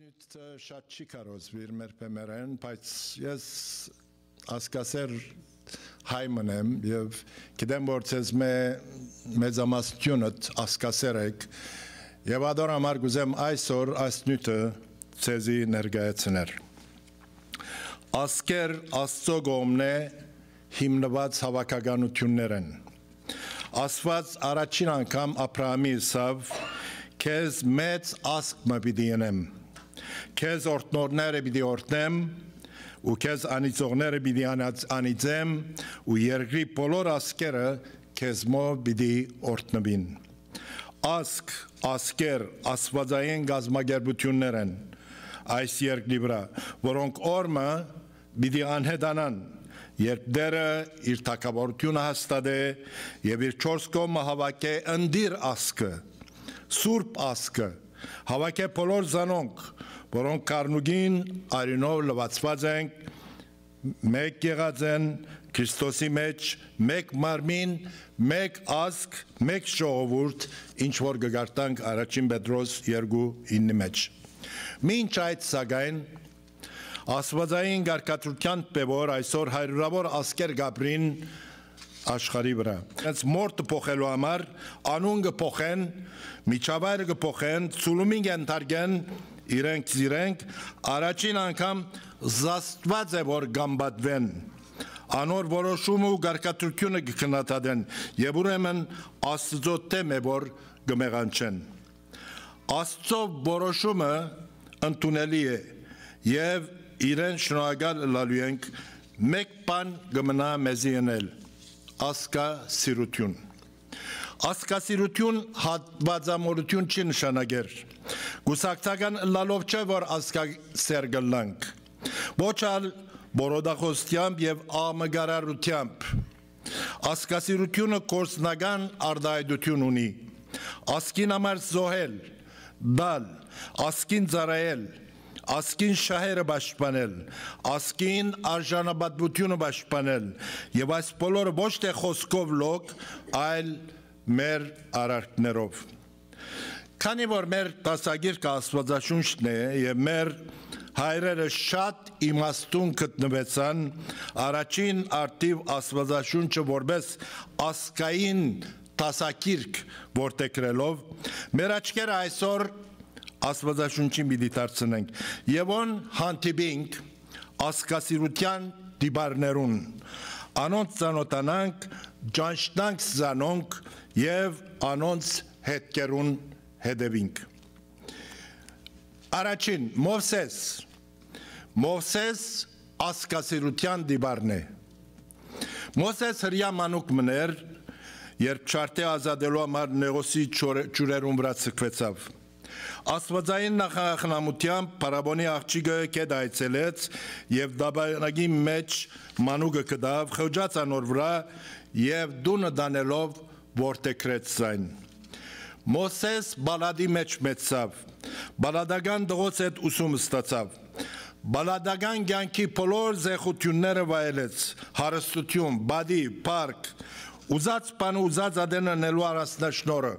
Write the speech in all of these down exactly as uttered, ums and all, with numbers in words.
Նիւթը շատ չի քարոզուիր մեր բեմերէն, բայց ես ազգասեր հայ մըն եմ եւ գիտեմ, որ ձեզմէ մեծամասնութիւնդ ազգասեր էք, եւ ատոր համար կ'ուզեմ այսօր այս նիւթը ձեզի ներկայացնել։ Ազգեր Աստծո կողմնէ հիմնուած հաւաքականութիւններ են։ Աստուած առաջին անգամ Աբրահամի ըսաւ. «Քեզ մեծ ազգ մը պիտի ընեմ։ Քեզ օրհնողները պիտի օրհնեմ ու քեզ անիծողները պիտի անած-, անիծեմ ու երկրի բոլոր ազգերը քեզմով պիտի օրհնուին»։ Ազգ, ազգեր, աստուածային կազմակերպութիւններ են այս երկրի վրայ, որոնք օր մը պիտի անհետանան, երբ Տէրը իր թագաւորութիւնը հաստատէ եւ իր չորս կողմը հաւաքէ ընտիր ազգը, սուրբ ազգը, հաւաքէ բոլոր զանոնք, որոնք գառնուկին արիւնով լուացուած են, մէկ եղած են Քրիստոսի մէջ, մէկ մարմին, մէկ ազգ, մէկ ժողովուրդ, ինչ որ կը կարդանք Առաջին Պետրոս երկու իննի մէջ։ Մինչ այդ, սակայն, աստուածային կարգադրութեան պէ որ այսօր հարիւրաւոր ազգեր կ'ապրին աշխարհի վրայ։ Հենց մորթը փոխելու համար անուն կը փոխեն, միջավայրը կը փոխեն, ցուլումին կ'ենթարկեն իրենք զիրենք, առաջին անգամ զաստուած է որ կամբատվեն։ Անոր որոշումը ու կարգադրութիւնը կը քննադատեն եւ ուրեմն Աստուծոյ դէմ է որ կը մեղանչեն։ Աստծո որոշումը ընդունելի է եւ իրեն շնորհակալ ըլլալու ենք, մէկ բան կը մնայ մեզի ընել. ազգասիրութիւն։ Ազգասիրութիւն հատուածամոլութիւն չի նշանակեր։ Կուսակցական ըլլալով չէ որ ազգասեր կ'ըլլանք, ոչ ալ բորոտախոսութեամբ եւ աղմկարարութեամբ։ Ազգասիրութիւնը գործնական արտայայտութիւն ունի. ազգին համար զոհել, տալ, ազգին ծառայել, ազգին շահերը պաշտպանել, ազգին արժանապատվութիւնը պաշտպանել, եւ այս բոլորը ոչ թէ խօսքով լոկ, այլ մեր արարքներով։ Քանի որ մեր դասագիրքը Աստուածաշունչն է եւ մեր հայրերը շատ իմաստուն գտնուեցան առաջին արդիւ Աստուածաշունչը որպէս ազգային դասագիրք որդեգրելով, մեր աչքերը այսօր Աստուածաշունչին պիտի դարձնենք եւ ուն հանդիպինք ազգասիրութեան տիպարներուն, անոնց ծանօթանանք, ճանչնանք զանոնք եւ անոնց հետքերուն հետեւինք։ Առաջին, Մովսէս։ Մովսէս ազգասիրութեան տիպարն է։ Մովսէս հրեայ մանուկ մըն էր, երբ ջարդէ ազատելու համար Նեղոսի ջուրերուն վրայ ձգուեցաւ։ Աստուածային նախախնամութեամբ Փարաւոնի աղջիկը գետը այցելեց եւ տապանակի մէջ մանուկը գտաւ, խղճաց անոր վրայ եւ տունը տանելով որդեգրեց զայն։ Մովսէս պալատի մէջ մեծցաւ, պալատական տղոց հետ ուսում ստացաւ, պալատական կեանքի բոլոր զեխութիւնները վայելեց, հարստութիւն, պատի, փառք, ուզած բանը ուզած ատեն ընելու առանձնաշնորհը։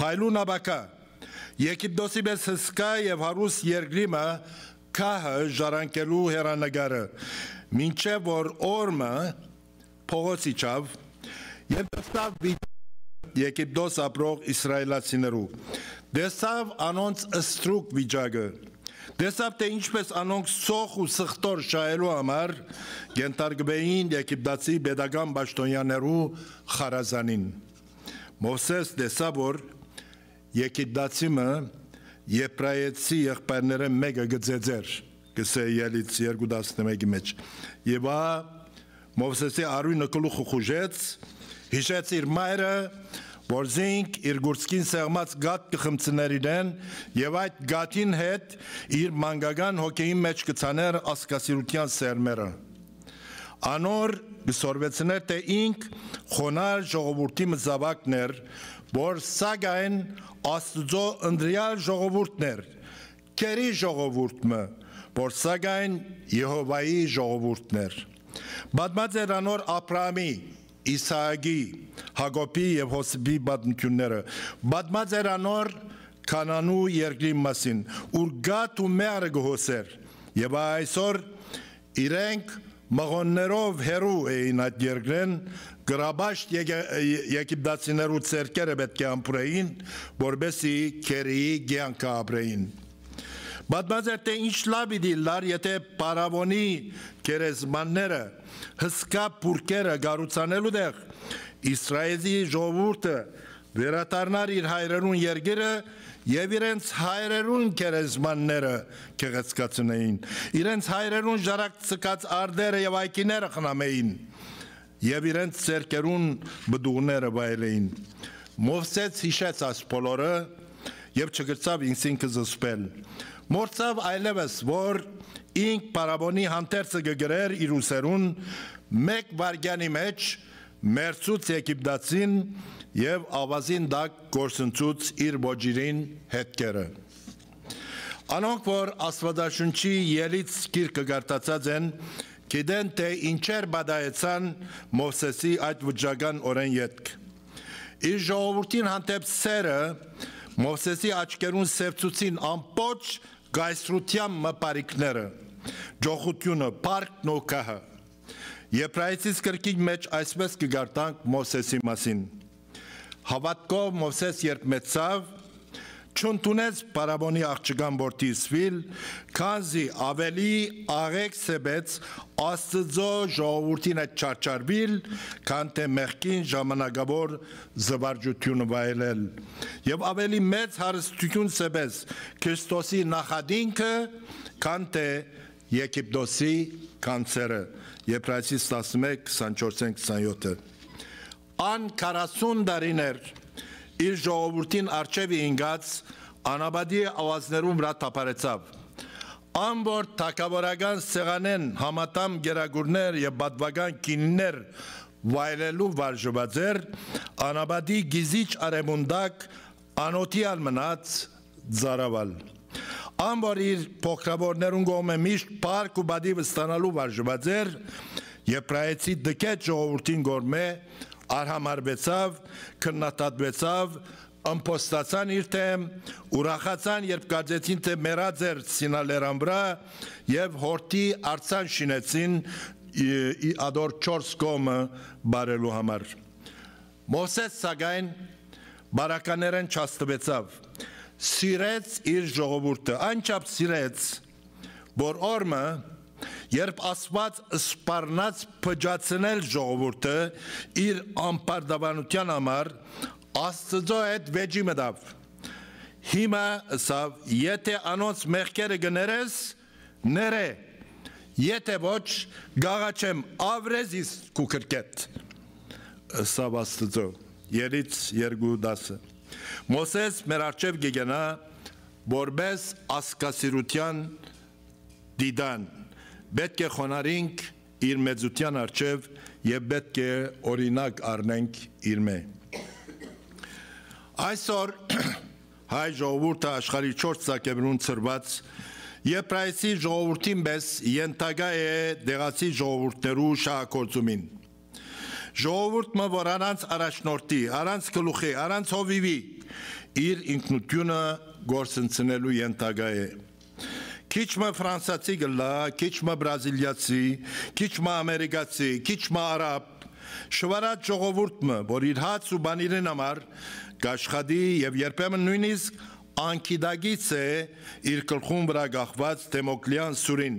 Փայլուն ապագայ, Եգիպտոսի պէս հսկայ եւ հարուստ երկրի մը գահը ժառանգելու հեռանկարը, մինչեւ որ օր մը փողոց իջաւ եւ տեսաւ վիճակը Եգիպտոս ապրող իսրայելացիներու, տեսաւ անոնց ստրուկ վիճակը, տեսաւ թէ ինչպէս անոնք սոխ ու սխտոր շահելու համար կ'ենթարկուէին եգիպտացի պետական պաշտօնեաներու խարազանին։ Մովսէս տեսաւ որ Եգիպտացի մը եբրայեցի եղբայրներէն մէկը կը ծեծէր, կ'ըսէ Ելից երկու տասնմէկի մէջ։ Եւ ահա Մովսէսի արիւնը գլուխը խուժեց, յիշեց իր մայրը, որ զինք իր գուրցքին սեղմած կաթ կը խմցնէր իրեն, եւ այդ կաթին հետ իր մանկական հոգեին մէջ կը ցանէր ազգասիրութեան սերմերը։ Անոր կը սորվեցնէր թէ ինք խոնար ժողովուրդի մը զաւակն էր, որ սակայն Աստուծոյ ընտրեալ ժողովուրդն էր, գերի ժողովուրդ մը, որ սակայն Եհովայի ժողովուրդն էր։ Պատմած էր անոր Աբրահամի, Իսահակի, Յակոբի եւ Յովսէփի պատմութիւնները, պատմած էր անոր Քանանու երկրին մասին, ուր գաթ ու մեղրը կը հոսէր։ Եւ այսօր իրենք մղոններով հեռու էին այդ երկրէն, գրաբաշտ եգ-, եգիպտացիներու ձեռքերը պէտք է ամբուրէին, որպեսզի քերիի կեանքը ապրեին։ Պատմած էր, թէ ինչ լաւ պիտի լար, եթե փարաւոնի գերեզմանները, հսկայ բուրքերը կառուցանելու տեղ Իսրայէլի ժողովուրդը վերադառնար իր հայրերուն երկիրը եւ իրենց հայրերուն գերեզմանները գեղեցկացնէին, իրենց հայրերուն ժարակցկած արտերը եւ այգիները խնամէին եւ իրենց ձեռքերուն պտուղները վայելէին։ Մովսէս յիշեց այս բոլորը եւ չկրցաւ ինքզինքը զսպել։ Մոռցաւ այլեւս, որ ինք փարաւոնի հանդերձը կը կրէր իր ուսերուն, մէկ վայրկեանի մէջ մերցուց եգիպտացին եւ աւազին տակ կորսնցուց իր ոճիրին հետքերը։ Անոնք, որ Աստուածաշունչի Ելից գիրքը կարդացած են, գիտեն, թէ ինչեր պատահեցան Մովսէսի այդ վճռական օրէն ետք։ Իր ժողովուրդին հանդէպ սերը Մովսէսի աչքերուն սեւցուցին ամբողջ կայսրութեան մը բարիքները, ճոխութիւնը, փառքն ու գահը։ Եբրայեցիս գրքին մէջ այսպէս կը կարդանք Մովսէսի մասին. «Հաւատքով Մովսէս, երբ մեծցաւ, չընդունեց փարաւոնի աղջկան որդի Սվիլ, քանզի աւելի աղէկ սեպեց Աստուծոյ ժողովուրդին հետ չարչարուիլ, քան թէ մեղքին ժամանակաւոր զուարճութիւնը վայելել, եւ աւելի մեծ հարստութիւն սեպեց Քրիստոսի նախատինքը, քան թէ Եգիպտոսի գանձերը»։ Եբրայեցիս տասնմէկ, քսանչորսէն քսանեթը։ Ան քառասուն տարիներ իր ժողովուրդին առջեւը ինկած անապատի աւազներուն վրայ թափառեցաւ։ Ան որ թագաւորական սեղանէն համատամ կերակուրներ եւ պատուական գինիներ վայելելու վարժուած էր, անապատի գիզիչ արեւուն տակ անօթի ալ մնաց ծարաւալ։ Ան որ իր փոքրաւորներուն կողմէ միշտ փառք ու պատիւ ստանալու վարժուած էր, եբրայեցի դքետ ժողովուրդին կողմէ արհամարհուեցաւ, քննադատուեցաւ, ըմբոստացան իր դէմ, ուրախացան, երբ կարծեցին թէ մեռած էր Սինա լերան վրայ, եւ յորդի արձան շինեցին, ի, ի ադոր չորս կողմը բարելու համար։ Մովսէս, սակայն, բարականերէն չհաստուեցաւ, սիրեց իր ժողովուրդը, այնչափ սիրեց, որ օր մը, երբ Աստուած սպառնաց փճացնել ժողովուրդը իր անպարտաւանութեան համար, Աստուծոյ հետ վէճի մտաւ։ Հիմա, ըսաւ, եթէ անոնց մեղքերը կը ներես, ներէ, եթէ ոչ, կ'աղաչեմ, ապրե զիս քու քրքէդ, ըսաւ Աստուծոյ։ Ելից երկու տասը։ Մովսէս մեր առջեւ կը գնայ որպէս ազգասիրութեան դիտան, պէտք է խոնարհինք իր մեծութեան առջեւ եւ պէտք է օրինակ առնենք իրմէ։ Այսօր հայ ժողովուրդը աշխարհի չորս ծակերուն ցրուած, եբրայեցի ժողովուրդին պէս ենթակայ է տեղացի ժողովուրդներու շահագործումին։ Ժողովուրդ մը, որ առանց առաջնորդի, առանց գլուխի, առանց հովիւի իր ինքնութիւնը գործընծնելու ենթակայ է։ Քիչ մը ֆրանսացի կ'ըլլայ, քիչ մը բրազիլիացի, քիչ մը ամերիկացի, քիչ մը արաբ, շուարած ժողովուրդ մը, որ իր հաց ու պանիրին համար կ'աշխատի եւ երբեմն նոյնիսկ անգիտակից է իր գլխուն վրայ կախուած Դեմոկլեան սուրին,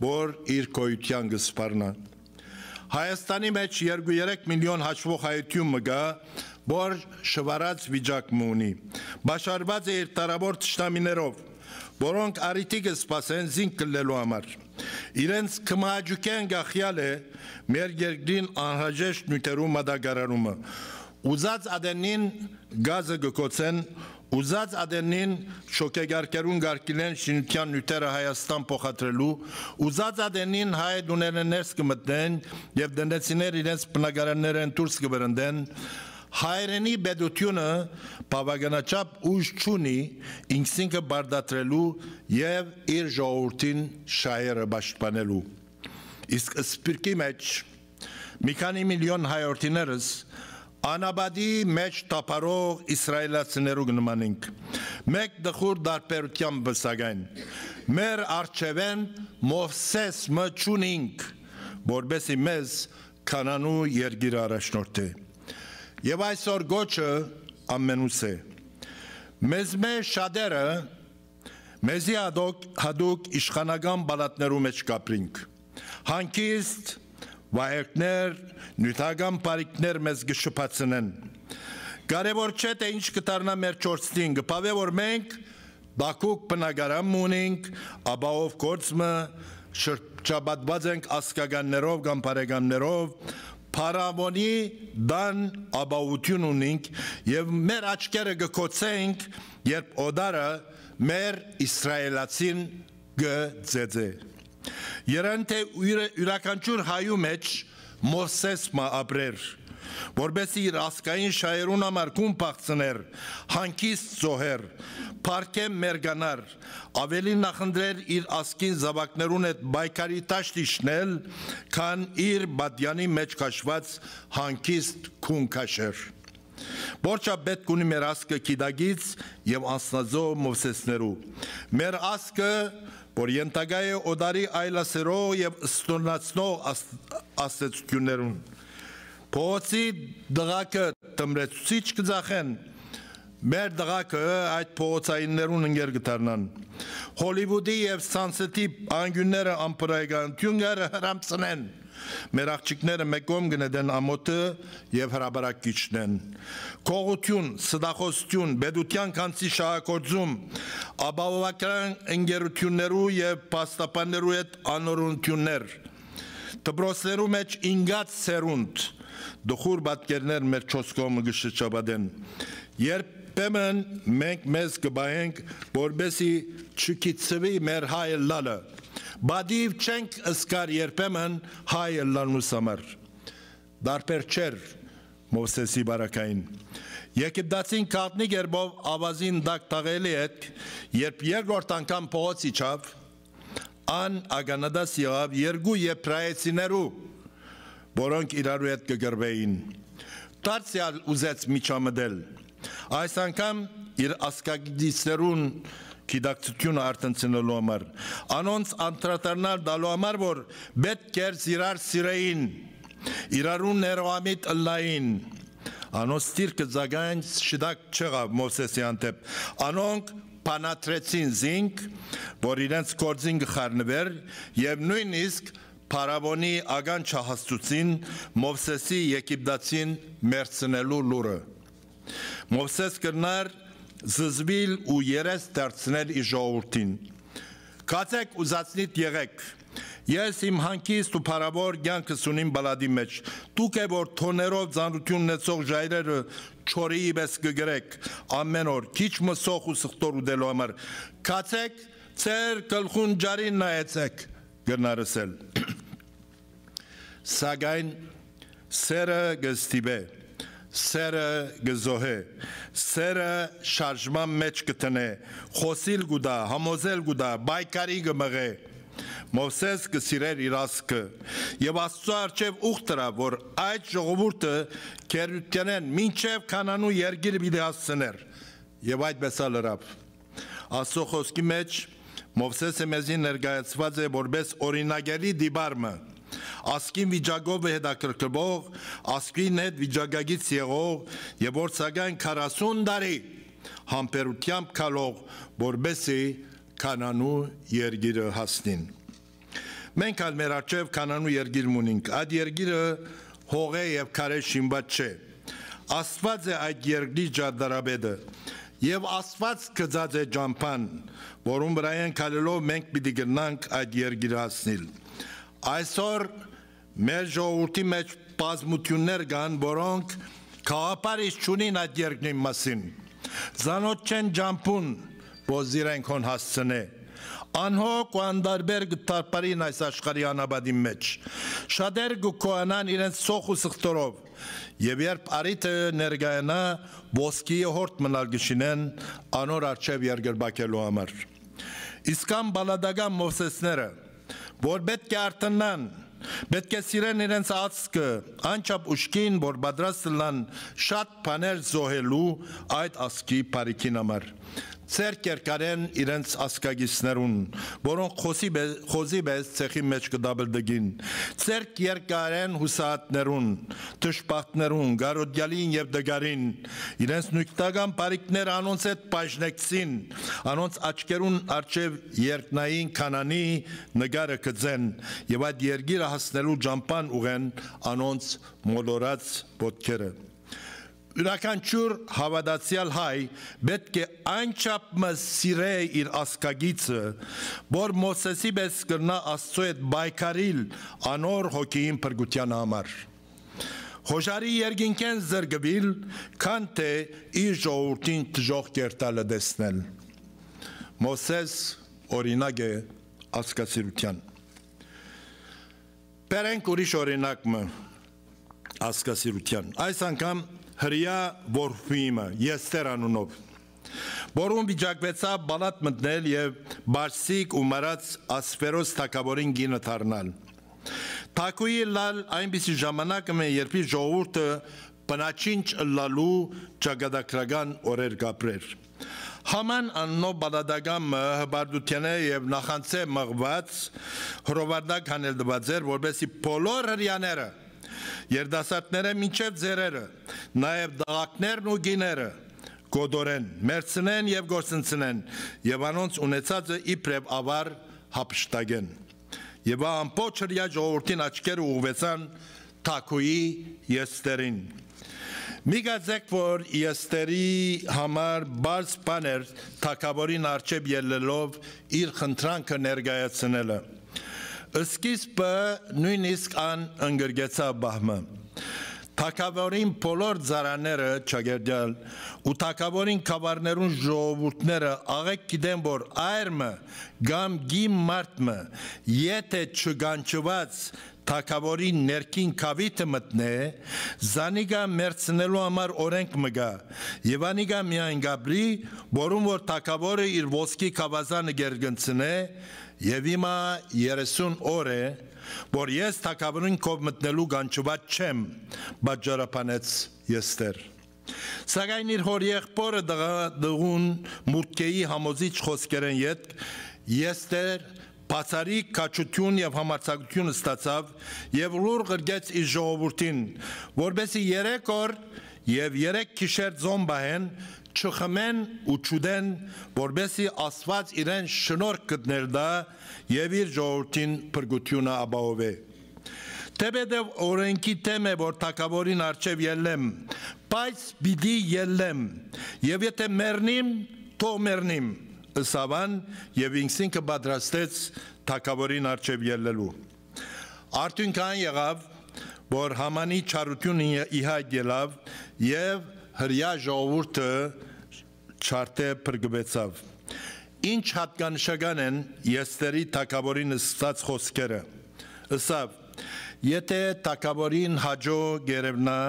որ իր գոյութեան կը սպառնայ։ Հայաստանի մէջ երկու երեք միլիոն հաշուող հայութիւն մը կայ, որ շուարած վիճակ մը ունի, պաշարուած է իր դարաւոր թշնամիներով, որոնք առիթի կը սպասեն զինք կլլելու համար։ Իրենց քմահաճուքէն կախեալ է մեր երկրին անհրաժեշտ նիւթերու մատակարարումը։ Ուզած ատենին գազը կը գոցեն, ուզած ատենին շոգեկառքերուն կ'արգիլեն շինութեան նիւթերը Հայաստան փոխադրելու, ուզած ատենին հայ տուներէն ներս կը մտնեն եւ տնտեսիներ իրենց բնակարաններէն դուրս կը վրընդեն, հայրենի պետութիւնը բաւականաչափ ուժ չունի ինքզինքը պարտադրելու եւ իր ժողովուրդին շահերը պաշտպանելու։ Իսկ սփիւռքի մէջ մի քանի միլիոն հայորդիներս անապատի մէջ թափառող իսրայելացիներու կը նմանենք։ Մէկ տխուր տարբերութեամբ, սակայն, մեր առջեւէն Մովսէս մը չունինք, որպէսի մեզ Քանանու երկիրը առաջնորդէ։ Եւ այսօր կոչը ամենուս է։ Մեզմէ շատերը մեզի հատուկ, հատուկ իշխանական պալատներու մէջ կապրինք։ Հանգիստ, վայելքներ, նիւթական բարիքներ մեզ կը շփացնեն։ Կարեւոր չէ, թէ ինչ կը դառնայ մեր չորցնին, կը բաւէ, որ մենք բակուկ բնակարան մը ունինք, ապահով գործ մը, շրջապատուած ենք ազգականներով կամ բարեկամներով, փարաւոնի տան ապահովութիւն ունինք եւ մեր աչքերը կը կոցենք, երբ օտարը մեր իսրայելացին կը ծեծէ։ Երանի թէ յուրը-, յուրաքանչիւր հայու մէջ Մովսէս մը ապրեր, որպէս իր ազգային շահերուն համար գուն փախցներ, հանգիստ զոհեր, պարգէ մերկանար, աւելի նախընտրեր իր ազգին զաւակներուն հետ պայքարի դաշտ իջնել, քան իր պատեանի մէջ քաշուած հանգիստ գուն քաշեր։ Որչա պէտք ունի մեր ազգը գիտակից եւ անձնազոհ Մովսէսներու։ Մեր ազգը, որ ենթակայ է օտարի այլասերող եւ ստորնացնող աս-, ազդեցութիւններուն։ Փողոցի դղակը թմրեցուցիչ կը ձախեն, մեր դղակը այդ փողոցայիններուն ընկեր կը դառնան։ Հոլիվուդի եւ Սանսեթի անկիւնները անբարոյականութիւն կը հրամցնեն։ Մեր աղջիկները մէկ կողմ կը նետեն ամօթը եւ հրապարակ կ'իջնեն։ Գողութիւն, ստախոսութիւն, պետութեան գանձի շահագործում, ապահովագրական ընկերութիւններու եւ փաստաբաններու հետ անօրենութիւններ, դպրոցներու մէջ ինկած սերունդ, տխուր պատկերներ մեր չորս կողմը կը շրջապատեն։ Երբեմն մենք մեզ կը պահենք, որպէսի չգիտցուի մեր հայ ըլլալը։ Պատիւ չենք զգար երբեմն հայ ըլլալնուս համար։ Տարբեր չէր Մովսէսի բարակային։ Եգիպտացին գաղտնի կերպով աւազին տակ թաղելի հետ, երբ երկրորդ անգամ փողոց իջաւ, ան ականատես եղաւ երկու եբրայեցիներու, որոնք իրարու հետ կը կռուէին։ Դարձեալ ուզեց միջամտել։ Այս անգամ իր ազգագիտիցներուն գիտակցութիւնը արթնցնելու համար, անոնց անդրադառնալ տալու համար, որ պէտք էր զիրար սիրէին, իրարու ներողամիտ ըլլային։ Անոնց դիրքը, սակայն, շիտակ չեղաւ Մովսէսի հանդէպ։ Անոնք բանադրեցին զինք, որ իրենց գործին կը խառնուէր եւ նոյնիսկ փարաւոնի ականջը հասցուցին Մովսէսի Եգիպտացին մեռցնելու լուրը։ Մովսէս կրնար զզուիլ ու երես դարձնել իր ժողովուրդին։ «Գացէք, ուզածնիդ եղէք։ Ես իմ հանգիստ ու փառաւոր կեանքս ունիմ պալատի մէջ։ Դուք է որ թոներով ծանրութիւն ունեցող ժայռերը չորիի պէս կը կրէք, ամէն օր, քիչ մը սոխ ու սխտոր ուտելու համար։ Գացէք, ձեր գլխուն ճարին նայեցէք», կրնար ըսել։ Սակայն սերը կը ստիպէ, սերը կը զոհէ, սերը շարժման մէջ կը դնէ, խօսիլ կու տայ, համոզել կու տայ, պայքարի կը մղէ։ Մովսէս կը սիրէր իր ազգը եւ Աստուծոյ առջեւ ուխ դրաւ, որ այդ ժողովուրդը գերութենէն մինչեւ Քանանու երկիրը պիտի հասցներ։ Եւ այդպէս ալ ըրաւ։ Աստուծոյ խօսքի մէջ Մովսէսը մեզի ներկայացուած է որպէս օրինակելի տիպար մը, ազգին վիճակով հետաքրքրվող, ազգին հետ վիճակագից եղող եւ որ սակայն քառասուն տարի համբերութեամբ քալող, որպէսի Քանանու երկիրը հասնին։ Մենք ալ մեր առջեւ Քանանու երկիր մը ունինք։ Այդ երկիրը հողէ եւ քարէ շինուած չէ։ Աստուած է այդ երկրի ճարտարապետը, եւ Աստուած գծած է ճամբան, որուն վրայէն քալելով մենք պիտի կրնանք այդ երկիրը հասնիլ։ Այսօր մեր ժողովուրդի մէջ բազմութիւններ կան, որոնք գաղափար իս չունին այդ երկրին մասին։ Ծանօթ չեն ճամբուն, որ զիրենք հոն հասցնէ։ Անհոգ ու անտարբեր կը թարբարին այս աշխարհի անապատին մէջ։ Շատեր կը գոյանան իրենց սոխ ու սխտորով, եւ երբ առիթը ներկայանայ, ոսկիի հորդ մնալ կը շինեն անոր առջեւ երկրպագելու համար։ Իսկ ան պալատական Մովսէսները, որ պէտք է արթննան, պէտք է սիրեն իրենց ազգը, անչափ ուժգին, որ պատրաստ ըլլան շատ բաներ զոհելու այդ ազգի բարիքին համար։ Ձեռք երկարեն իրենց ազգակիցներուն, որոնք խոզի պե-, խոզի պէս ցեխի մէջ կը դաբլդգին, ձեռք երկարեն յուսահատներուն, դժբախտներուն, կարոտեալին եւ տկարին, իրենց նիւթական բարիքները անոնց հետ բաժնեկցին, անոնց աչքերուն առջեւ երկնային Քանանի նկարը գծեն եւ այդ երկիրը հասնելու ճամբան ուղղեն անոնց մոլորած ոտքերը։ Իւրաքանչիւր հաւատացեալ հայ պէտք է այնչափ մը սիրէ իր ազգակիցը, որ Մովսէսի պէս կրնայ Աստուծոյ հետ պայքարիլ անոր հոգիին փրկութեան համար։ Խոժարի երկինքէն զրկուիլ, քան թէ իր ժողովուրդին դժոխք երթալը տեսնել։ Մովսէս օրինակ է ազգասիրութեան։ Բերենք ուրիշ օրինակ մը ազգասիրութեան։ Այս անգամ հրեայ որբի մը, Եստեր անունով, որուն վիճակուեցաւ պալատ մտնել եւ պարսիկ ու մարած Ասվերոս թագաւորին կինը դառնալ։ Թագուհի ըլլալ այնպիսի ժամանակ մը, երբ իր ժողովուրդը բնաչինչ ըլլալու ճակատագրական օրեր կապրեր։ Համան անունով պալատական մը հպարտութենէ եւ նախանձէ մղուած հրովարտակ հանել տուած էր, որպեսզի բոլոր հրեաները, երիտասարդները մինչեւ ծերերը, նաեւ տղաքներն ու կիները կոտորեն, մեռցնեն եւ գործընծնեն եւ անոնց ունեցածը իբրեւ աւար յափշտակեն։ Եւ ա ամբողջ հրեայ ժողովուրդին աչքերը ուղղուեցան թագուհի Եստերին։ Մի կարծէք, որ Եստերի համար պարզ բան էր թագաւորին առջեւ ելլելով իր խնդրանքը ներկայացնելը։ Սկիզբը նոյնիսկ ան ընկրկեցաւ պահ մը։ Թագաւորին բոլոր ծառաները չակերտեալ ու թագաւորին գաւառներուն ժողովուրդները աղէկ գիտեն, որ այր մը կամ կին մարդ մը, եթէ չկանչուած թագաւորին ներքին գաւիթը մտնէ, զանիկա մեռցնելու համար օրենք մը կայ, եւ անիկա միայն կապրի, որուն որ թագաւորը իր ոսկի գաւազանը կերկնցնէ, եւ հիմա երեսուն օր է, որ ես թագաւորին քով մտնելու կանչուած չեմ, պատճառաբանեց Եստեր։ Սակայն իր հօր եղբորը տղա-, տղուն Մուրդքեի համոզիչ խօսքերէն ետք Եստեր բացառիկ քաջութիւն եւ համարձակութիւն ստացաւ եւ լուռ ղրկեց իր ժողովուրդին, որպեսզի երեք օր եւ երեք գիշեր ծոմ պահեն, չխմեն ու չուտեն, որպեսզի Աստուած իրեն շնորհք գտներ տայ եւ իր ժողովուրդին փրկութիւնը ապահովէ։ Թէպէտեւ օրենքի դէմ է, որ թագաւորին առջեւ ելլեմ, բայց պիտի ելլեմ, եւ եթէ մեռնիմ, թող մեռնիմ, ըսաւ ան, եւ ինքզինքը պատրաստեց թագաւորին առջեւ ելլելու։ Արդիւնքը այն եղաւ, որ Համանի չարութիւնը ի հայտ ելաւ եւ հրեայ ժողովուրդը չարդէ փրկուեցաւ։ Ինչ յատկանշական են Եստերի թագաւորին ըսած խօսքերը։ Ըսաւ. «Եթէ թագաւորին հաճոյ կ'երեւնայ,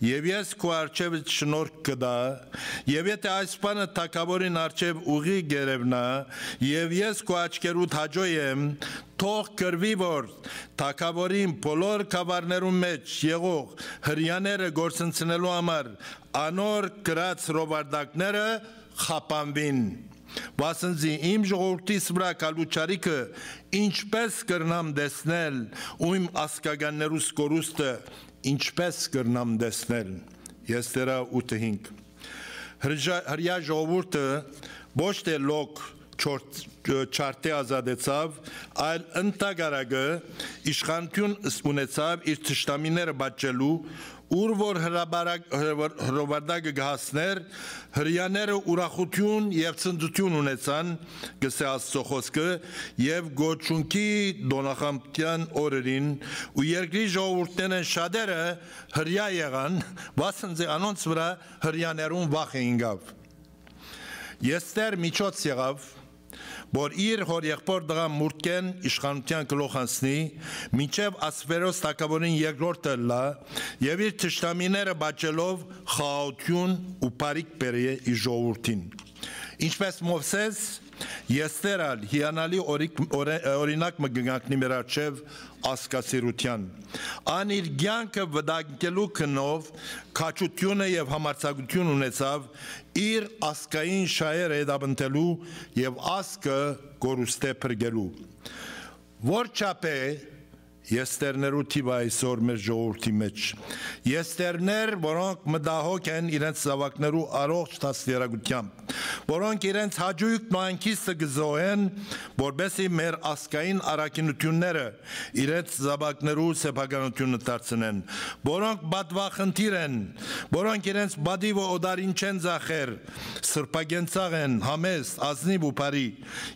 եւ ես քու առջեւդ շնորհք կ'տամ, եւ եթէ այս բանը թագաւորին առջեւ ուղի կ'երեւնայ, եւ ես քու աչքերուդ հաճոյ եմ, թող կ'երեւնի, որ թագաւորին բոլոր գաւառներուն մէջ եղող հրեաները գործընծնելու համար անոր կրած հրովարտակները խափանուին։ Վասն զի իմ ժողովուրդիս վրայ գալու չարիքը ինչպէս կրնամ տեսնել, ու իմ ազգականներուս կորուստը ինչպէս կրնամ տեսնել»։ Եստերա ութը հինգ։ Հրեայ-, հրեայ ժողովուրդը ոչ թէ լոկ չորդ-, չարդէ ազատեցաւ, այլ ընդհակառակը իշխանութիւն ս-, ունեցաւ իր թշնամիները պատժելու, ուր որ հրաբարակ-, հրովար-, հրովարտակը կը հասներ, հրեաները ուրախութիւն եւ ցնծութիւն ունեցան, կ'ըսէ Աստուծոյ խօսքը, եւ գոչունքի տօնախմբութեան օրերին ու երկրի ժողովուրդներէն շատերը հրեայ եղան, վասն զի անոնց վրայ հրեաներուն վախը ինկաւ։ Եստեր միջոց եղաւ, որ իր հօր եղբոր տղան Մուրդքեն իշխանութեան գլուխ անցնի, մինչեւ Ասվերոս թագաւորին երկրորդը ըլլայ եւ իր թշնամիները պատժելով խաղաղութիւն ու բարիք բերէ իր ժողովուրդին։ Ինչպէս Մովսէս, Եստեր ալ հիանալի օրիկ-, օրե-, օրինակ մը կը կանգնի մեր առջեւ ազգասիրութեան։ Ան իր կեանքը վտանգելու գնով քաջութիւնը եւ համարձակութիւն ունեցաւ իր ազգային շահերը հետապնդելու եւ ազգը կորուստէ փրկելու։ Որ չափ է Եստերներու թիվը այսօր մեր ժողովուրդի մէջ։ Եստերներ, որոնք մտահոգ են իրենց զաւակներու առողջ դաստիարակութեամբ, որոնք իրենց հաճոյքն ու հանգիստը կը զոհեն, որպէսզի մեր ազգային առաքինութիւնները իրենց զաւակներու սեփականութիւնը դարձնեն, որոնք պատուախնդիր են, որոնք իրենց պատիվը օտարին չեն ձախեր, սրբակենցաղ են, համեստ, ազնիւ ու բարի,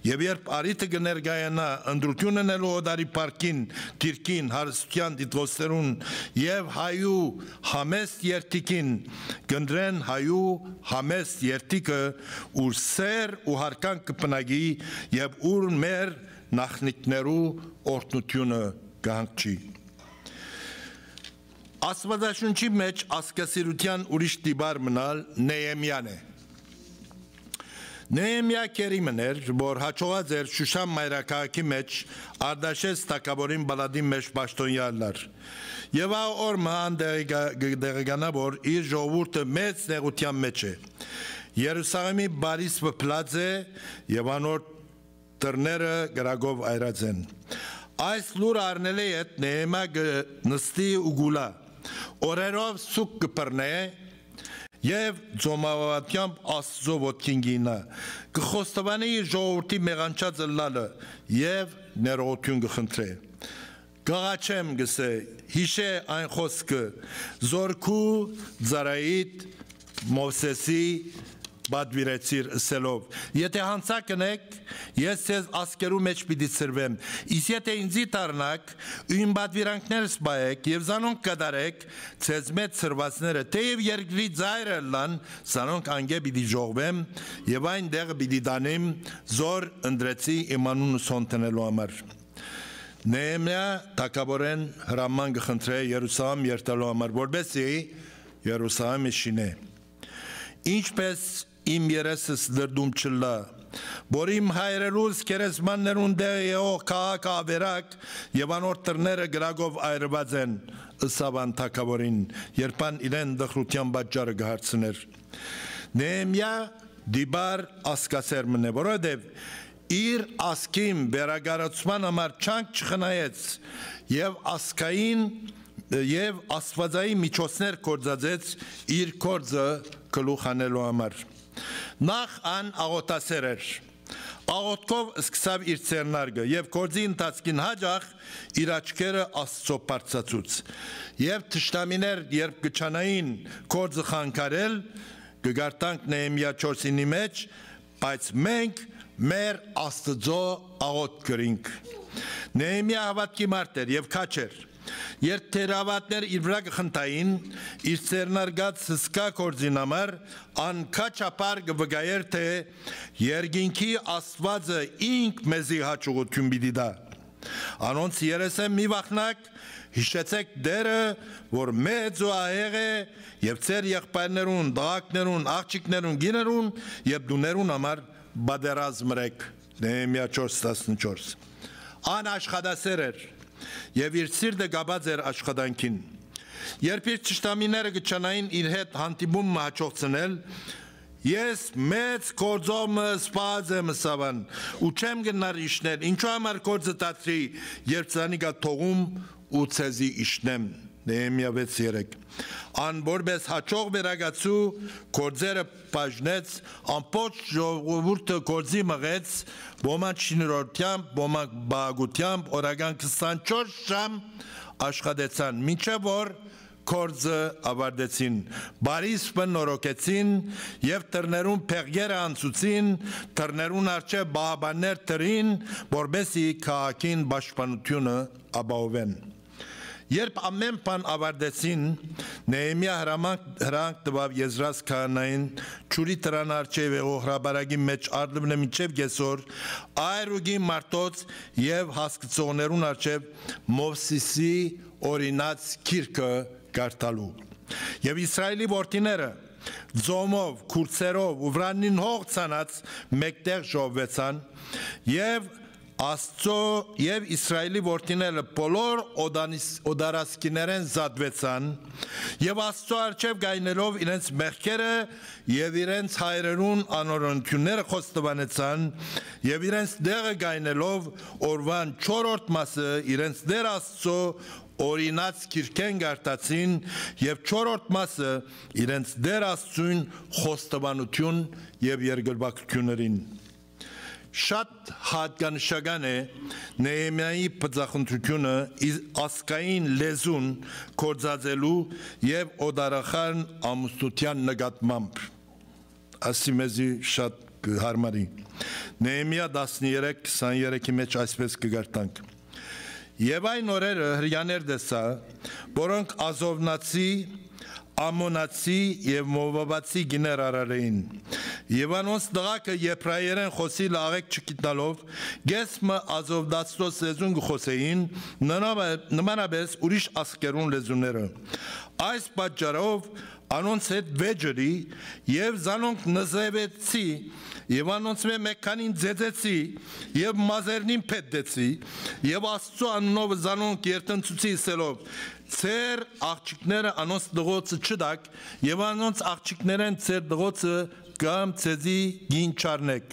եւ երբ առիթը կը ներկայանայ ընտրութիւն ընելու օտարի փառքին, դիրքին, հարստութեան տիտղոսներուն եւ հայու համեստ երդիքին, կ'ընտրեն հայու համեստ երդիքը, ուր սէր ու յարգանք կը բնակի եւ ուր մեր նախնիքներու օրհնութիւնը կը հանգչի։ Աստուածաշունչի մէջ ազգասիրութեան ուրիշ տիպար մըն ալ Նեեմիան է։ Նեեմիա գերի մըն էր, որ յաջողած էր Շուշան մայրաքաղաքի մէջ Արտաշէս թագաւորին պալատին մէջ պաշտօնեայ ըլլար։ Եւ ա օր մը ան տեղեկա-, կը տեղեկանայ, որ իր ժողովուրդը մեծ նեղութեան մէջ է։ Երուսաղէմի պարիսպը փլած է եւ անոր դռները կրակով այրած են։ Այս լուրը առնելէ յետ Նեեմիա կը նստի ու կ'ուլայ։ Օրերով սուգ կը բռնէ եւ ծոմապատեամբ Աստուծոյ ոտքին կ'իյնայ, կը խոստովանէ իր ժողովուրդի մեղանչած ըլլալը եւ ներողութիւն կը խնդրէ։ Կ'աղաչեմ, կ'ըսէ, յիշէ այն խօսքը, զոր քու ծառայիդ Մովսէսի պատուիրեցիր, ըսելով. «Եթէ յանցա կ'ընէք, ես ձեզ ազգերու մէջ պիտի ցրուեմ, իսկ եթէ ինծի դառնաք ու իմ պատուիրանքներս պահէք եւ զանոնք կատարէք, ձեզմէ ցրուածները թէեւ երկրի ծայրը ըլլան, զանոնք անկէ պիտի ժողվեմ եւ այն տեղը պիտի տանիմ, զոր ընտրեցի իմ անունս հոն դնելու համար»։ Նեեմիա թագաւորէն հրաման կը խնդրէ Երուսաղէմ երթալու համար, որպէսզի Երուսաղէմը շինէ։ Ինչպէս իմ երեսս դրդում չըլլայ, որ իմ հայրերուս գերեզմաններուն դէ եղող քաղաքը աւերակ եւ անոր դռները կրակով այրուած են, ըսաւ ան թագաւորին, երբ ան իրեն տխրութեան պատճառը կը հարցնէր։ Նեեմիա դիպար ազգասեր մըն է, որովհետեւ իր ազգին վերակառուցման համար չանք չխնայեց եւ ազգային եւ աստուածային միջոցներ գործածեց իր գործը գլուխ հանելու համար։ Նախ ան աղօթասեր էր։ Աղօթքով սկսաւ իր ձեռնարկը եւ գործի ընթացքին յաճախ իր աչքերը Աստծոյ բարձրացուց։ Եւ թշնամիներ, երբ կը ջանային գործը խանգարել, կը կարդանք Նեեմիա չորսինի մէջ, բայց մենք մեր Աստծոյ աղօթք կրինք։ Նեեմիա հաւատքի մարդ էր եւ քաջ էր։ Երբ թերահաւատներ իր վրայ կը խնդային, իր ձեռնարկած հսկայ գործին համար, ան քաչափառ կը վկայէր, թէ երկինքի Աստուածը ինք մեզի յաջողութիւն պիտի տայ։ Անոնց երեսէն մի վախնաք, յիշեցէք Տէրը, որ մեծ ու ահեղ է, եւ ձեր եղբայրներուն, տղաքներուն, աղջիկներուն, կիներուն եւ տուներուն համար պատերազմ ըրէք։ Նեեմիա չորս տասնչորս։ Ան աշխատասեր էր եւ իր սիրտը կապած էր աշխատանքին։ Երբ իր թշնամիները կը ջանային իր հետ հանդիպում մը յաջողցնել, «Ես մեծ գործով մը սպաս եմ», ըսաւ ան, «ու չեմ գնար իջնել։ Ինչո՞ւ համար գործը դադրի, երբ զանիկա թողում ու ձեզի իջնեմ»։ Նեեմիա վեց երեք։ Ան որպէս յաջող վերակացու գործերը բաժնեց, ամբողջ ժողովուրդը գործի մղեց, ոմանք շինարարութեամբ, ոմանք պահակութեամբ, օրական քսանչորս ժամ աշխատեցան, մինչեւ որ գործը աւարտեցին, պարիսպը նորոգեցին եւ դռներուն փեղկերը անցուցին, դռներուն առջեւ պահապաններ դրին, որպէսզի քաղաքին պաշտպանութիւնը ապահովեն։ Երբ ամէն բան աւարտեցին, Նեեմիա հրամանք, հրամանք տուաւ Եզրաս քահանային, ջուրի դրան առջեւ եղող հրապարակի մէջ առլունը մինչեւ կեսօր, այր ու կին մարդոց եւ հասկցողներուն առջեւ Մովսիսի օրինած գիրքը կարդալու։ Եւ Իսրայէլի որդիները, ձոմով, քուրձերով ու վրանին հող ցանած մէկտեղ ժողվուեցան եւ Աստծո եւ Իսրայէլի որդիները բոլոր օտանիս-, օտարասկիներէն զատուեցան եւ Աստծո առջեւ գայնելով իրենց մեղքերը եւ իրենց հայրերուն անօրենութիւնները խոստովանեցան եւ իրենց տեղը գայնելով օրուան չորրորդ մասը իրենց Տէր Աստծո օրինած գիրքէն գարտացին եւ չորրորդ մասը իրենց Տէր Աստծուն խոստովանութիւն եւ երկրպագութիւններուն։ Շատ յատկանշական է Նեեմիայի բծախնդրութիւնը ի-, ազգային լեզուն գործածելու եւ օտարախան ամուսնութեան նկատմամբ։ Ասի մեզի շատ կը յարմարի։ Նեեմիա տասներեք քսաներեքի մէջ այսպէս կը կարդանք. «Եւ այն օրերը Հրեաներ տեսայ, որոնք Ազովնացի, Ամոնացի եւ Մովաբացի գիներ արարէին։ Եւ անոնց տղաքը Եբրայերէն խօսիլը աղէկ չգիտնալով, կես մը Ազովնացիներու լեզուն կը խօսէին, նմանա-, նմանապէս ուրիշ ազգերուն լեզուները։ Այս պատճառով անոնց հետ վեճ ըրի եւ զանոնք նզովեցի եւ անոնցմէ մէկ քանին ծեծեցի եւ մազերնին փետտեցի եւ Աստծու անունով զանոնք երդնցուցի, ըսելով. "Ձեր աղջիկները անոնց տղոցը չտաք եւ անոնց աղջիկներէն ձեր տղոցը կամ ձեզի կին չառնէք"։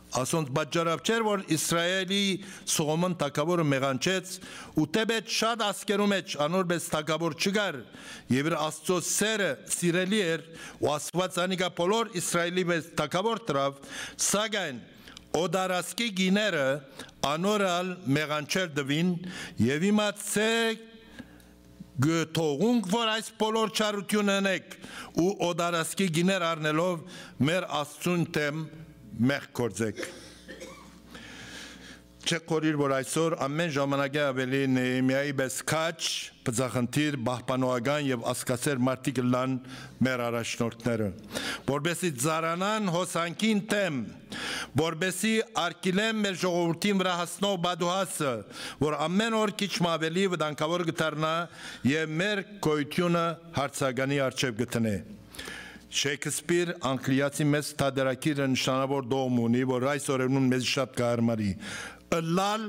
Ասոնց պատճառով չէր, որ Իսրայէլի Սողոմոն թագաւորը մեղանչեց ու թէպէտ շատ ազգերու մէջ անոր պէս թագաւոր չկար, եւ իր Աստծո սերը սիրելի էր ու Աստուած անիկա բոլոր Իսրայէլի պէս թագաւոր դրաւ, սակայն օտարասկի գիները անոր ալ մեղանչել տուին, եւ հիմա ցե կը թողունք, որ այս բոլոր չարութիւնը ընեք ու օտարասկի գիներ առնելով մեր Աստծուն դէմ մեղք գործեք։ Չէ՞ խորհիր, որ այսօր ամէն ժամանակէ աւելի Նեեմիայի պէս քաջ, բծախնդիր, պահպանողական եւ ազգասէր մարդիկ ըլլան մեր առաջնորդները, որպեսզի ծառանան հոսանքին դէմ, որպեսզի արգիլեն մեր ժողովուրդին վրայ հասնող պատուհասը, որ ամէն օր քիչ մը աւելի վտանգաւոր կը դառնայ եւ մեր գոյութիւնը հարցականի առջեւ կը դնէ։ Շեքսպիր անգլիացի մեծ թատերագիրը նշանաւոր տողմ ունի, որ այս օրերուն մեզ շատ կը յարմարի. "Ըլլալ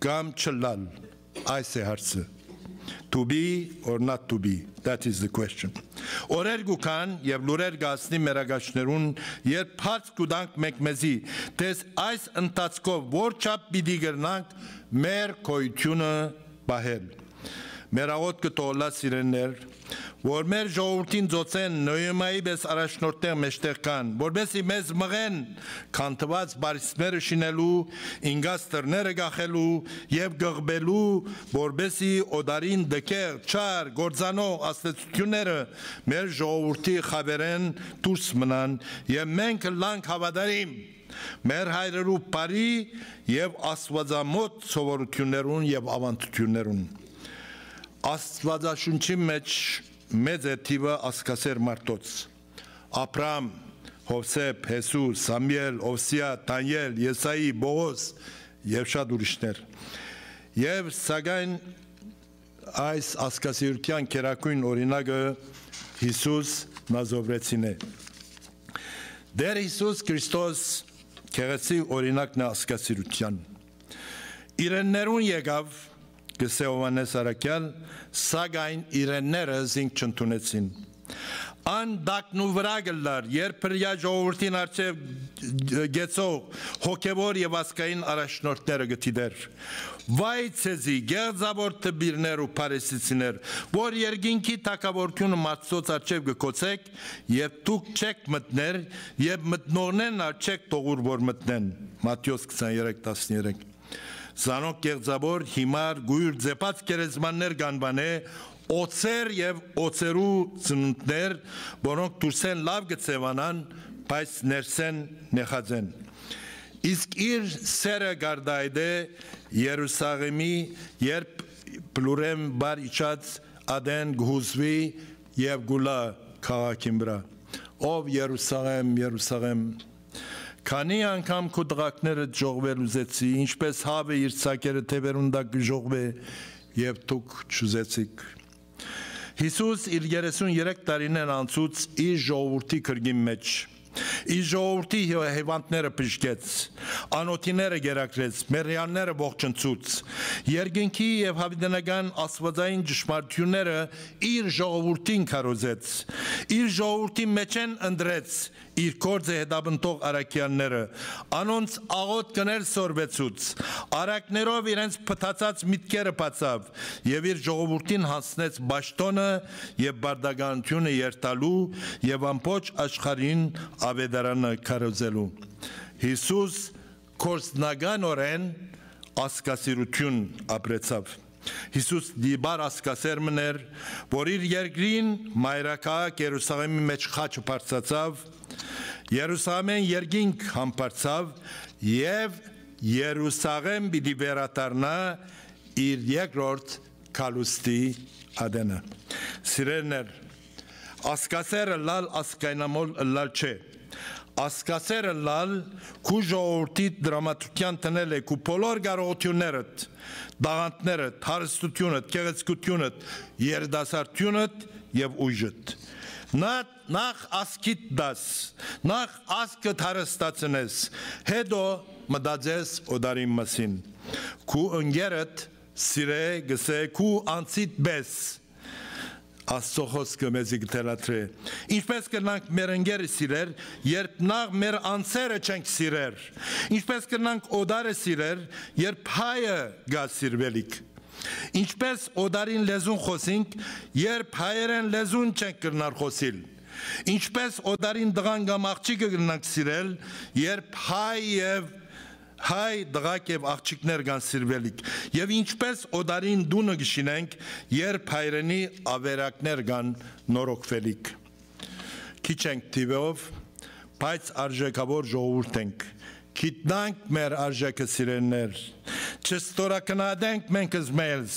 կամ չըլլալ, այս է հարցը"։ "To be or not to be, that is the question"։ Օրեր կու գան եւ լուրեր կը հասնի մեր ագաշներուն, երբ հարց կու տանք մէկ մեզի, թէ այս ընթացքով որչափ պիտի կրնանք մեր գոյութիւնը պահել։ Մեր աղօթքը թող ըլլայ, սիրելիներ, որ մեր ժողովուրդին ծոցեն Նոյեմայի պէս առաջնորդներ մէջտեղ կան, որպեսզի մեզ մղեն քանդուած պարիսպները շինելու, ինկած դռները կախելու եւ կղմելու, որպեսզի օտարին տկեղ, չար, կործանող ազդեցութիւնները մեր ժողովուրդի խաւերէն դուրս մնան եւ մենք ըլլանք հաւատարիմ մեր հայրերու բարի եւ աստուածամոտ սովորութիւններուն եւ աւանդութիւններուն։ Աստուածաշունչի մէջ մեծ է թիւը ազգասէր մարդոց. Աբրահամ, Յովսէփ, Յիսուս, Սամուէլ, Ովսիա, Դանիէլ, Եսայի, Պողոս եւ շատ ուրիշներ։ Եւ սակայն այս ազգասիրութեան գերագույն օրինակը Յիսուս Նազովրեցին է։ Տէր Յիսուս Քրիստոս գեղեցիկ օրինակն է ազգասիրութեան։ Իրեններուն եկաւ, կսէ Յովհաննէս Առաքեալ, սակայն իրենները զինք չընդունեցին։ Ան տակնուվրայ կ'ըլլար, երբ Հրեայ ժողովուրդին առջեւ կեցող հոգեւոր եւ ազգային առաջնորդները կը դիտէր։ Վայ ձեզի, գեղձաւոր դպիրներ ու փարիսեցիներ, որ երկինքի թագաւորութիւնը մարդոց առջեւ կը գոցէք, եւ դուք չէք մտներ, եւ մտնողներն ալ չէք թողուր որ մտնեն։ Մատթէոս քսաներեք տասներեք։ Զանոնք կեղծաւոր, յիմար, կոյր, ձեփած գերեզմաններ կ'անուանէ, օձեր եւ օձերու ծնունդներ, որոնք դուրսէն լաւ կը ձեւանան, բայց ներսէն նեխած են։ Իսկ իր սերը կ'արտայայտէ Երուսաղէմի, երբ բլուրէն վար իջած ատեն կը յուզուի եւ կ'ըլլայ քաղաքին վրայ. "Ով Երուսաղէմ, Երուսաղէմ, քանի՞ անգամ քու տղաներդ ժողվել ուզեցի, ինչպէս հաւը իր ցակերը թեւերուն տակ կը ժողվէ, եւ դուք չուզեցիք"։ Յիսուս իր երեսուն երեք տարիներն անցուց իր ժողովուրդի կրկին մէջ։ Իր ժողովուրդի հի-, հիւանդները բժշկեց, անօթիները կերակրեց, մեռյալները ողջնցուց։ Երկնքի եւ յաւիտենական աստուածային ճշմարտութիւնները իր ժողովուրդին քարոզեց։ Իր ժողովուրդի մէջէն ընտրեց իր գործը հետապնդող առաքեալները, անոնց աղօթքներ սորվեցուց, առակներով իրենց փտացած միտքերը բացաւ եւ իր ժողովուրդին յանձնեց պաշտօնը եւ պարտականութիւնը երթալու եւ ամբողջ աշխարհին աւետարանը քարոզելու։ Յիսուս գործնականօրէն ազգասիրութիւն ապրեցաւ։ Յիսուս դիպար ազգասէր մըն էր, որ իր երկրին մայրաքաղաք Երուսաղէմի մէջ խաչը բարձրացաւ, Երուսաղէմէն երկինք համբարձաւ եւ Երուսաղէմ պիտի վերադառնայ իր երկրորդ գալուստի ատենը։ Սիրելիներ, ազգասէր ըլլալ ազգայնամոլ ըլլալ չէ։ Ազգասէր ըլլալ քու ժողովուրդի տրամադրութեան դնել է քու բոլոր կարողութիւններդ, տաղանդներդ, հարստութիւնդ, գեղեցկութիւնդ, երիտասարդութիւնդ եւ ուժդ։ Նա-, նախ ազգիդ տաս, նախ ազգդ հարստացնես, հետո մտածես օտարին մասին։ Քու ընկերդ սիրէ, գսէ, քու անձիդ պէս։ Աստուծոյ խօսքը մեզի կը թելադրէ։ Ինչպէս կրնանք մեր ընկերը սիրել, երբ նախ մեր անձերը չենք սիրեր։ Ինչպէս կրնանք օտարը սիրել, երբ հայը գայ սիրուելիք։ Ինչպէս օտարին լեզուն խօսինք, երբ հայերէն լեզուն չենք կրնար խօսիլ։ Ինչպէս օտարին տղան կամ աղջիկը կրնանք սիրել, երբ հայ եւ հայ տղաք եւ աղջիկներ կան սիրուելիք, եւ ինչպէս օտարին տունը կը շինենք, երբ հայրենի աւերակներ կան նորոգուելիք։ Քիչ ենք թիւով, բայց արժեքաւոր ժողովուրդ ենք։ Գիտնանք մեր արժեքը, սիրելիներ։ Չստորագնահատենք մենք զմեզ,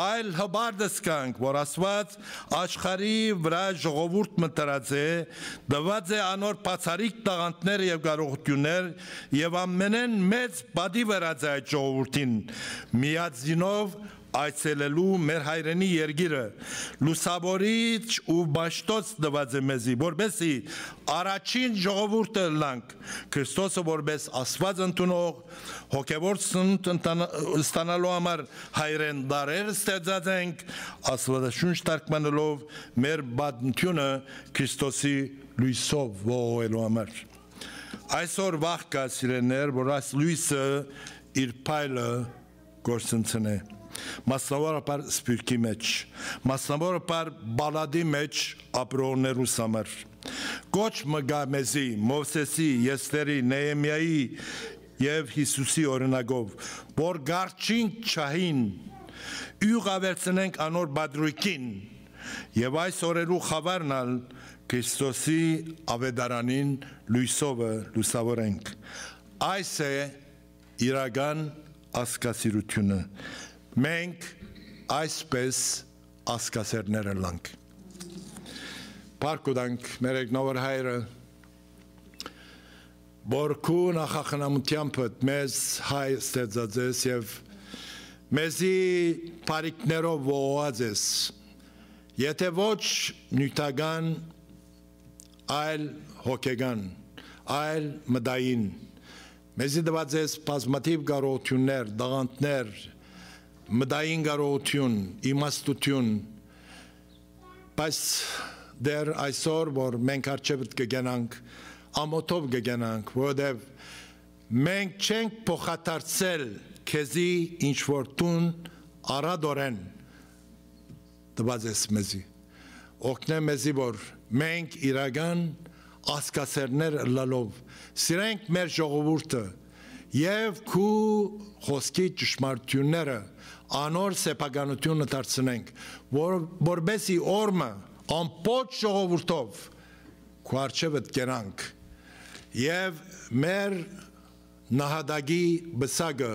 այլ հպարտ զգանք, որ Աստուած աշխարհի վրայ ժողովուրդ մը դրած է, տուած է անոր բացառիկ տաղանդներ եւ կարողութիւններ, եւ ամենէն մեծ պատիւ ըրած է այդ ժողովուրդին, միածինով այցելելու մեր հայրենի երկիրը, լուսաւորիչ ու պաշտոց տուած է մեզի, որպեսզի առաջին ժողովուրդը ըլլանք, Քրիստոսը որպես Աստուած ընդունող, հոգեւոր սնունդ ընտան-, ստանալու համար հայրէն դարեր ստեղծած ենք, Աստուածաշունչ թարգմանելով մեր պատմութիւնը Քրիստոսի լոյսով ողողելու համար։ Այսօր վախ կայ, սիրելիներ, որ այս լոյսը իր փայլը կորսնցնէ, մասնավորաբար Սփիւռքի մէջ, մասնավորաբար Պալատի մէջ ապրողներուս համար։ Կոչ մը կայ մեզի, Մովսէսի, Էսթերի, Նեհեմիայի եւ Յիսուսի օրինակով, որ կառչինք ջահին, իւղ աւելցնենք անոր պատրոյքին, եւ այս օրերու խաւարն ալ Քրիստոսի աւետարանին լոյսովը լուսաւորենք։ Այս է իրական ազգասիրութիւնը։ Մենք այսպես ազգասերներ ըլլանք։ Փառք կու տանք մեր Եկնավոր Հայրը, որ քու նախախնամութեամբդ մեզ հայ ստեղծած ես եւ մեզի բարիքներով ողողած ես, եթէ ոչ նիւթական, այլ հոգեկան, այլ մտային։ Մեզի տուած ես բազմաթիւ կարողութիւններ, տաղանդներ, մտային կարողութիւն, իմաստութիւն, բայց դեռ այսօր, որ մենք առջեւդ կը գնանք, ամօթով կը գնանք, որովհետեւ մենք չենք փոխադարձել քեզի ինչ որ դուն առատորեն տուած ես մեզի։ Օգնե մեզի, որ մենք իրական ազգասերներ ըլլալով սիրենք մեր ժողովուրդը եւ քու խօսքի ճշմարտութիւնները անոր սեփականութիւնը դարձնենք, որ, որպեսի օրը ամբողջ ժողովուրդով քու առջեւդ կենանք եւ մեր նահատակի պսակը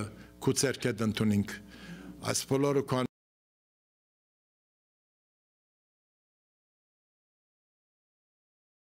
քու ձեռքդ ընդունինք։ Այս բոլորը քու